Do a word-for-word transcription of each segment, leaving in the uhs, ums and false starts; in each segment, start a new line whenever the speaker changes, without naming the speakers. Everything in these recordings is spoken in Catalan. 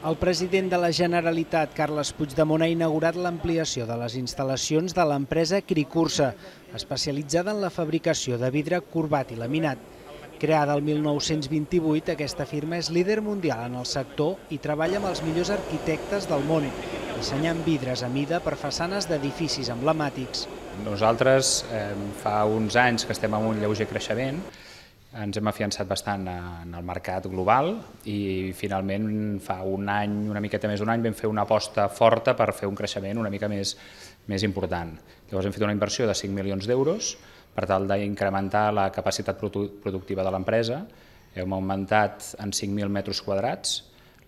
El president de la Generalitat, Carles Puigdemont, ha inaugurat l'ampliació de les instal·lacions de l'empresa Cricursa, especialitzada en la fabricació de vidre corbat i laminat. Creada el mil nou-cents vint-i-vuit, aquesta firma és líder mundial en el sector i treballa amb els millors arquitectes del món, dissenyant vidres a mida per façanes d'edificis emblemàtics.
Nosaltres eh, fa uns anys que estem en un lleuger creixement, ens hem afiançat bastant en el mercat global i finalment fa un any, una miqueta més d'un any, vam fer una aposta forta per fer un creixement una mica més, més important. Llavors hem fet una inversió de cinc milions d'euros per tal d'incrementar la capacitat productiva de l'empresa. Hem augmentat en cinc mil metres quadrats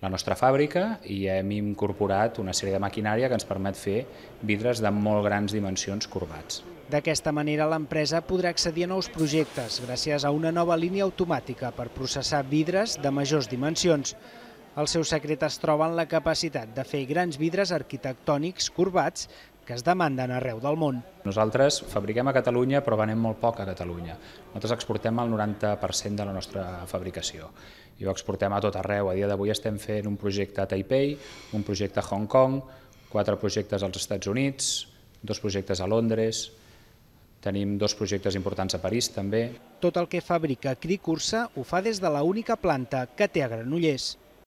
la nostra fàbrica i hem incorporat una sèrie de maquinària que ens permet fer vidres de molt grans dimensions corbats.
D'aquesta manera, l'empresa podrà accedir a nous projectes gràcies a una nova línia automàtica per processar vidres de majors dimensions. El seu secret es troba en la capacitat de fer grans vidres arquitectònics corbats que es demanden arreu del món.
Nosaltres fabriquem a Catalunya, però venem molt poc a Catalunya. Nosaltres exportem el noranta per cent de la nostra fabricació i ho exportem a tot arreu. A dia d'avui estem fent un projecte a Taipei, un projecte a Hong Kong, quatre projectes als Estats Units, dos projectes a Londres, tenim dos projectes importants a París també.
Tot el que fabrica Cricursa ho fa des de l'única planta que té a Granollers.